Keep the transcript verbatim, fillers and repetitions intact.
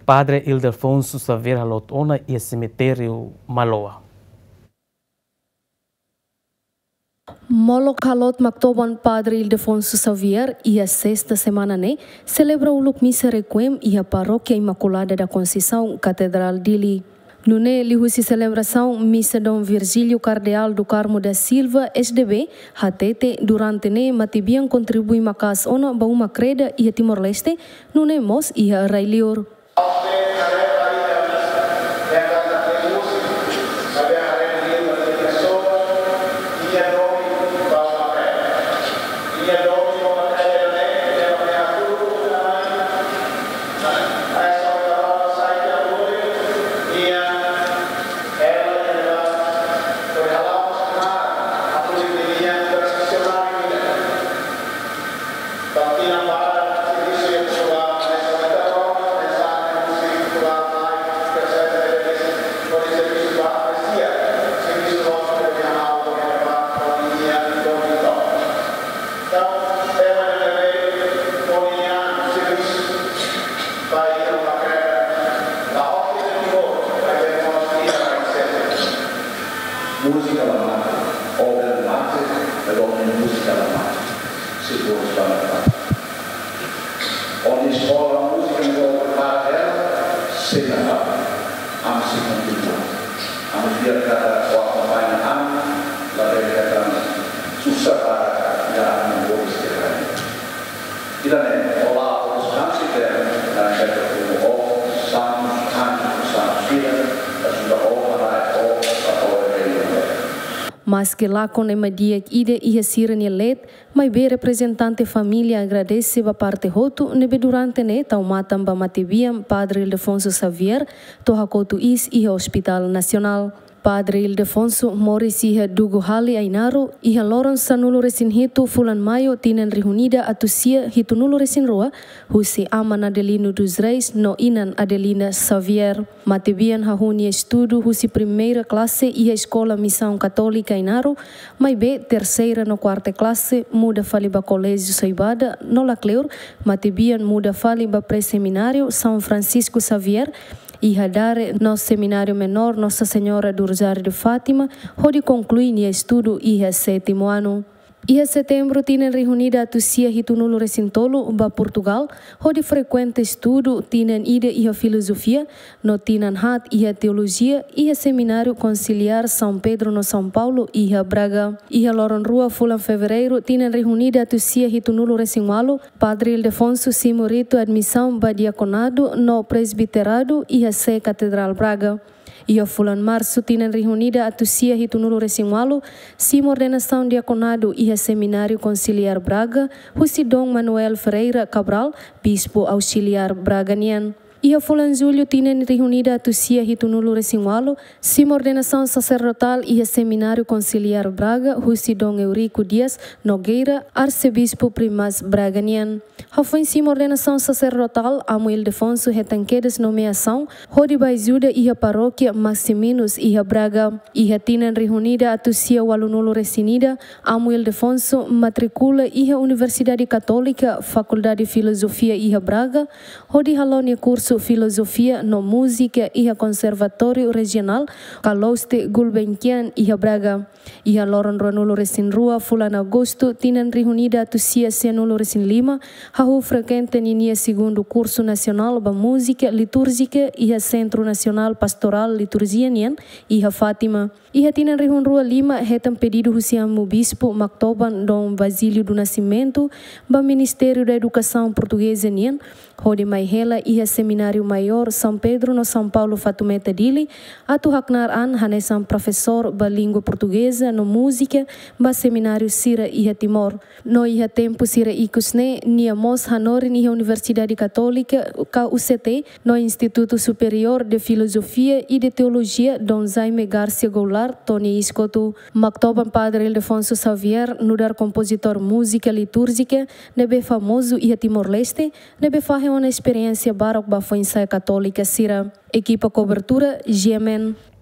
Padre Ildefonso Xavier haloot ona iha semitériu Maloa. Molok haloot Maktoban Padre Ildefonso Xavier iha sesta semana ne'e selebra uluk misa requiem iha Parókia Imaculada da Conceição, Katedrál Dili. Nune'e liuhusi selebrasaun misa, Dom Virgílio Cardeal do Carmo da Silva, S D B, hatete durante ne'e matebian kontribui maka'as ona ba uma kreda iha Timor-Leste, nune'e mós iha rai-liur. Múzika la mate, obra la mate, pelo menos múzika la mate. Seguro está na paz. Onde eskola múzika no para ela, sei na paz. Ami sei kontinua. Ami fiar kada kuarta-feira, ami la bele kata susar para ya no bolis de rain. Ida-ne'e, olá, os kansi tem na cheta como o santos, anjos, santos, ida, ajuda o para o para o reino. Maske lakon ema di'ak ida iha sira-nia leet, maibé reprezentante família agradese ba parte hotu ne'ebé durante ne'e tau matan ba matebian Padre Ildefonso Xavier to'o hakotu iis iha Hospital Nasionál. Padre Ildefonso moris iha Dugu Hali, Ainaro, iha loron sanulu-resin-hitu fulan Maiu tinan rihun ida atus sia hitunulu-resin-rua, husi aman Adelino dos Reis no inan Adelina Xavier. Matebian hahú nia estudu husi primeira klase iha Eskola Misaun Katólika Ainaro, maibé terseira no kuarta klase muda fali ba Koléjiu Soibada, no lakleur, matebian muda fali ba Pré-Semináriu São Francisco Xavier, iha Dare, no Semináriu Menór Nossa Senhora do Rosário de Fátima, hodi konklui nia estudu iha sétimu anu. Iha setembru tinan rihun ida atus sia hitunulu-resin-tolu ba Portugál, hodi frekuenta estudu tinan ida iha filozofia, no tinan haat iha teolojia, iha Semináriu Konsiliár São Pedro no São Paulo, iha Braga. Iha loron rua fulan Fevereiru tinan rihun ida atus sia hitunulu-resin-ualu, Padre Ildefonso simu ritu admisaun ba diakonadu no presbiteradu iha sé Katedrál Braga. Iha fulan Marsu tinan rihun ida atus sia hitunulu-resin-ualu, simu ordenasaun diakonadu iha Semináriu Konsiliár Braga, husi Dom Manuel Ferreira Cabral, Bispu Ausiliár Braga nian. Iha fulan Jullu tinan rihun ida atus sia hitunulu-resin-ualu, simu ordenasaun saserdotál iha Semináriu Konsiliár Braga, husi Dom Eurico Dias Nogueira, Arsebispu Primaz Braga nian. Hafoin simu ordenasaun saserdotál, Amu Ildefonso hetan kedas nomeasaun hodi bá ajuda iha Parókia Maximinus iha Braga. Iha tinan rihun ida atus sia ualunulu-resin-ida, Amu Ildefonso matrikula iha Universidade Katólika, Fakuldade Filozofia iha Braga, hodi halo nia kursu Filozofia no Múzika iha Konservatóriu Rejionál Carlos de Gulbenkian iha Braga. Iha loron ruanulu-resin-rua fulan Agostu tinan rihun ida atus sia sianulu-resin-lima, hahú frekuenta ninia segundu kursu nasionál ba múzika litúrjika iha Sentru Nasionál Pastorál Liturjia nian, iha Fátima. Iha tinan rihun rua lima, hetan pedidu husi Amu Bispu Maktoban Dom Basílio do Nascimento ba Ministériu da Edukasaun Portugeza nian, hodi mai hela iha Semináriu Maiór São Pedro no São Paulo Fatumeta Dili, atu haknaar an hanesan profesór ba língua portugeza no múzika ba semináriu sira iha Timor. No iha tempu sira ikus ne'e, nia mós hanorin iha Universidade Katólika ka U C T no Instituto Superior de Filosofia e de Teologia Dom Jaime Garcia Goulart to'o nia iis kotuk. Maktoban Padre Ildefonso Xavier nu'udar kompozitór múzika litúrjika ne'ebé famozu iha Timor-Leste, ne'ebé fahe ona esperiénsia barak ba foin-sa'e katólika sira. Ekipa kobertura, G M N.